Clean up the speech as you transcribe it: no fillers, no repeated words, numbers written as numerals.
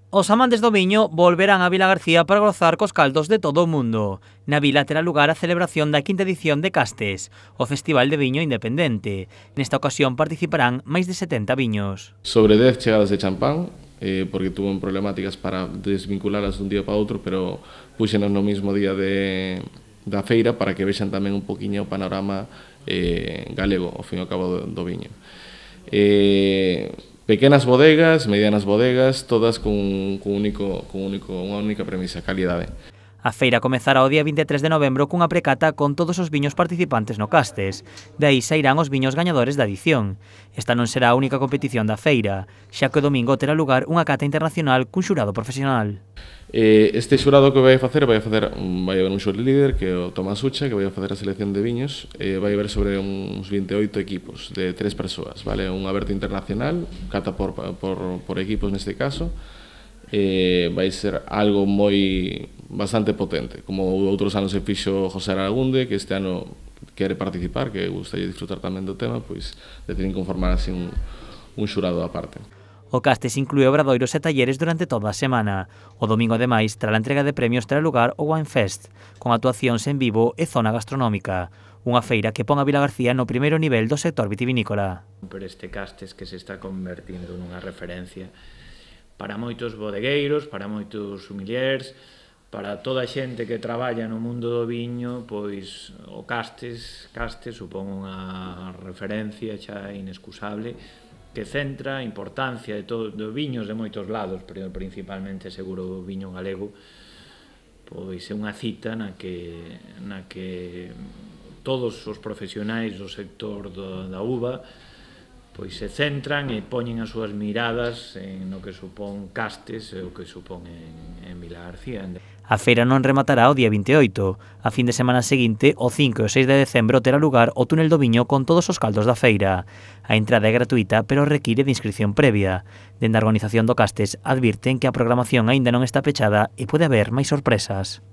Os amantes do viño volverán a Vilagarcía para gozar cos caldos de todo o mundo. Na vila terá lugar a celebración da quinta edición de Castes, o Festival de Viño Independente. Nesta ocasión participarán máis de 70 viños. Sobre 10 chegadas de champán, porque tuvo problemáticas para desvinculalas dun día para outro, pero puxenos no mismo día da feira para que vexan tamén un poquinho o panorama galego, ao fin e ao cabo do viño. Pequenas bodegas, medianas bodegas, todas unha única premisa, calidade. A feira comezará o día 23 de novembro cunha precata con todos os viños participantes no Castes. De aí sairán os viños gañadores da edición. Esta non será a única competición da feira, xa que o domingo terá lugar unha cata internacional cun xurado profesional. Este xurado que vai haber un xuri líder, que é o Tomás Ucha, que vai facer a selección de viños, vai haber sobre uns 28 equipos de 3 persoas, vale? Un aberto internacional, cata por equipos neste caso, vai ser algo bastante potente, como outros anos se fixo José Aragunde, que este ano quere participar, que gustaría disfrutar tamén do tema, pois deciden conformar así un xurado aparte. O Castes inclúe obradoiros e talleres durante toda a semana. O domingo, ademais, tras a entrega de premios terá lugar o Wine Fest, con actuacións en vivo e zona gastronómica. Unha feira que pon a Vilagarcía no primeiro nivel do sector vitivinícola. Por este Castes que se está convertindo nunha referencia para moitos bodegueiros, para moitos sommeliers, para toda a xente que traballa no mundo do viño, pois o Castes supón unha referencia xa inescusable que centra a importancia de viños de moitos lados, pero principalmente seguro o viño galego, pois é unha cita na que todos os profesionais do sector da uva pois se centran e poñen as súas miradas no que supón Castes e o que supón en Vilagarcía. A feira non rematará o día 28. A fin de semana seguinte, o 5 e o 6 de decembro, terá lugar o túnel do viño con todos os caldos da feira. A entrada é gratuita, pero require de inscripción previa. Dende a organización do Castes advirten que a programación aínda non está pechada e pode haber máis sorpresas.